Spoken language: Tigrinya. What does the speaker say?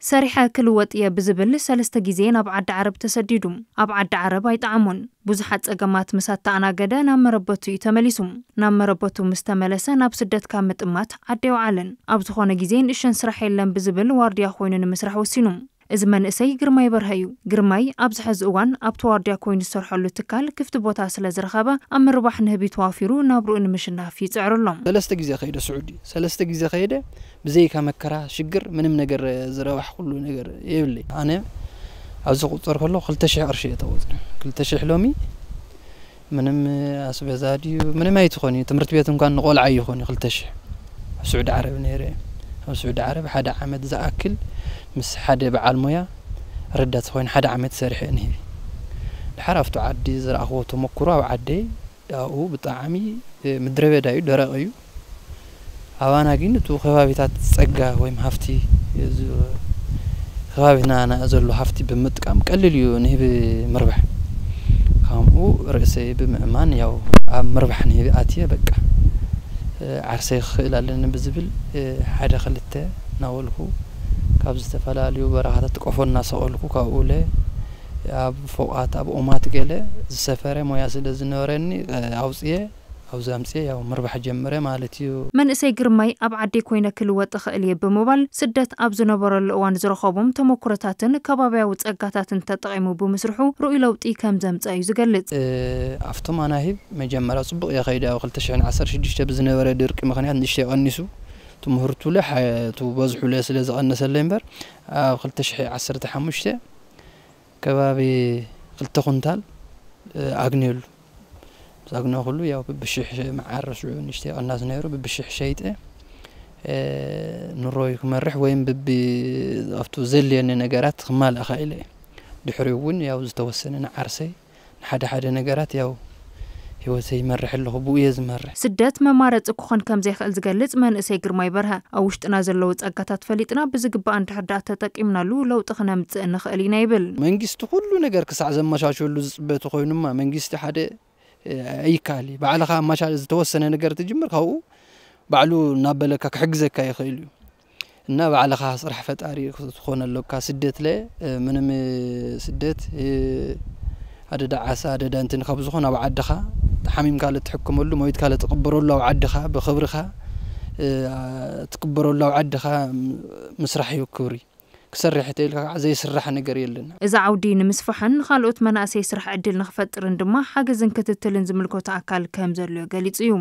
ሰሪሐ ክልወጥ እየ ብዝብል ሰለስተ ግዜ ናብ ዓዲ ዓረብ ተሰዲዱ። ኣብ ዓዲ ዓረብ ኣይጠዓሞን። ብዙሓት ጸገማት ምስ ኣተኣናገደ ናብ መረበቱ እዩ ተመሊሱ። ናብ መረበቱ ምስ ተመለሰ ናብ ስደት ካብ ምጥማት ዓዲ ኣይወዓለን። ኣብ ዝኾነ ግዜ ንእሽተን ስራሕ የለን ብዝብል ዋርድያ ኮይኑ ንምስራሕ ወሲኑ። እዚ መንእሰይ ግርማይ በርሀ እዩ። ግርማይ ኣብዚ ሕዚ እዋን ኣብቲ ዋርድያ ኮይኑ ዝሰርሐሉ ትካል ክፍቲ ቦታ ስለ ዝረኸበ ኣብ ምርባሕ ንህቢ ተዋፊሩ ናብርኡ ንምሽናፍ ይጽዕር ኣሎ። ሰለስተ ግዜ ከይደ ስዑዲ፣ ሰለስተ ግዜ ከይደ ብዘይካ መከራ ሽግር ምንም ነገር ዝረባሕ ኩሉ ነገር የብለይ። ኣነ ኣብዚ ቁፅር ከሎ ክልተ ሽሕ ቅርሺ እየ ተቆፅረ። ክልተ ሽሕ ሎሚ ምንም ኣስቤዛ ድዩ ምንም ኣይትኾን እዩ። ትምህርቲ ቤት እንኳን ንቆልዓ ይኾን እዩ ክልተ ሽሕ። ኣብ ስዑዲ ዓረብ ነይረ። ኣብ ስዑዲ ዓረብ ሓደ ዓመት ዝኣክል ምስ ሓደ በዓል ሞያ ረዳት ኮይኑ ሓደ ዓመት ሰሪሐ ንህቢ። ድሓር ኣብቲ ዓዲ ዝረኣኽዎ ተመክሮ ኣብ ዓደይ ኣብኡ ብጣዕሚ ምድረ በዳ እዩ፣ ደረቕ እዩ። ኣባና ግን እቲ ከባቢታት ጸጋ ወይም ሃፍቲ እዚ ከባቢና ና- ዘሎ ሃፍቲ ብምጥቃም ቀሊል እዩ ንህቢ ምርባሕ። ከምኡ ርእሰይ ብምእማን ያው ኣብ ምርባሕ ንህቢ ኣትየ በቃ ዓርሰይ ክኽእል ኣለኒ ብዝብል ሓደ ክልተ እናበልኩ ካብ ዝተፈላለዩ በረኻታት ቆፎ እናሰቐልኩ ካብኡ ለ ኣብ ፎቓት ኣብ ኦማት ገለ ዝሰፈረ ሞያ ስለ ዝነበረኒ ኣውፅየ ኣብዚ ኣምፅየ ያው ምርባሕ ጀምረ ማለት እዩ። መንእሰይ ግርማይ ኣብ ዓደይ ኮይነ ክልወጥ እኽእል እየ ብምባል ስደት ኣብ ዝነበረሉ እዋን ዝረኸቦም ተመኩሮታትን ከባብያዊ ጸጋታትን ተጠቒሙ ብምስርሑ ርኡይ ለውጢ ከም ዘምፀ እዩ ዝገልጽ። ኣብቶም ኣናሂብ መጀመርያ ጽቡቕ እየ ከይደ ኣብ ክልተ ሽሕን ዓሰርተ ሽዱሽተ ብዝነበረ ድርቂ ምኽንያት ንእሽተይ ቀኒሱ ትምህርቱ ለ ሓ- እቲ በዝሑ ለ ስለ ዝቐነሰለይ እምበር ኣብ ክልተ ሽሕ ዓሰርተ ሓሙሽተ ከባቢ ክልተ ኩንታል ኣግንየሉ። ምስ ኣግነ ኩሉ ያው ብብሽሕ መዓር ሽዑ ንእሽተይ ቅናስ ነይሩ ብብሽሕ ሸይጠ ንሮይ ክመርሕ ወይም ብቢ ኣብቱ ዘልየኒ ነገራት ክማልእ ኻኢለ እየ። ድሕሪኡ እውን ያው ዝተወሰነ ንዓርሰይ ንሓደ ሓደ ነገራት ያው ህይወተይ ይመርሕ ኣለኹ ብኡ እየ ዝመርሕ። ስደት መማረፂ ክኾን ከም ዘይኽእል ዝገልፅ መንእሰይ ግርማይ በርሀ ኣብ ውሽጥና ዘለዉ ጸጋታት ፈሊጥና ብዝግባእ እንድሕር ደኣ ተጠቂምናሉ ለውጢ ክነምፅእ ንኽእል ኢና ይብል። መንግስቲ ኩሉ ነገር ክሳዕ ዘመቻችወሉ ዝፅበ ተኾይኑማ መንግስቲ ሓደ ኣይካል እዩ። ባዕልኻ ኣማሻ ዝተወሰነ ነገር ትጅምር ካብኡ ባዕሉ እናበለካ ክሕግዘካ ይኽእል እዩ። እና ባዕልኻ ስራሕ ፈጣሪ ክትኾን ኣለካ። ስደት ለ ምንም ስደት ኣደዳ ዓሳ ኣደዳ እንትን ካብ ዝኾን ኣብ ዓድኻ ሓሚምካ ለትሕክመሉ ሞይትካ ለትቕበረሉ ኣብ ዓድኻ ብኽብርኻ ትቅበረሉ ኣብ ዓድኻ ምስራሕ እዩ ክብሪ። ክሰርሕ ተኢልካ ከዓ ዘይስራሕ ነገር የለን። እዚ ዓውዲ ንምስፋሕን ንኻልኦት መናእሰይ ስራሕ ዕድል ንኽፈጥርን ድማ ሓገዝን ክትትልን ዝምልከቶ ኣካል ከም ዘድልዮ ገሊጹ እዩ።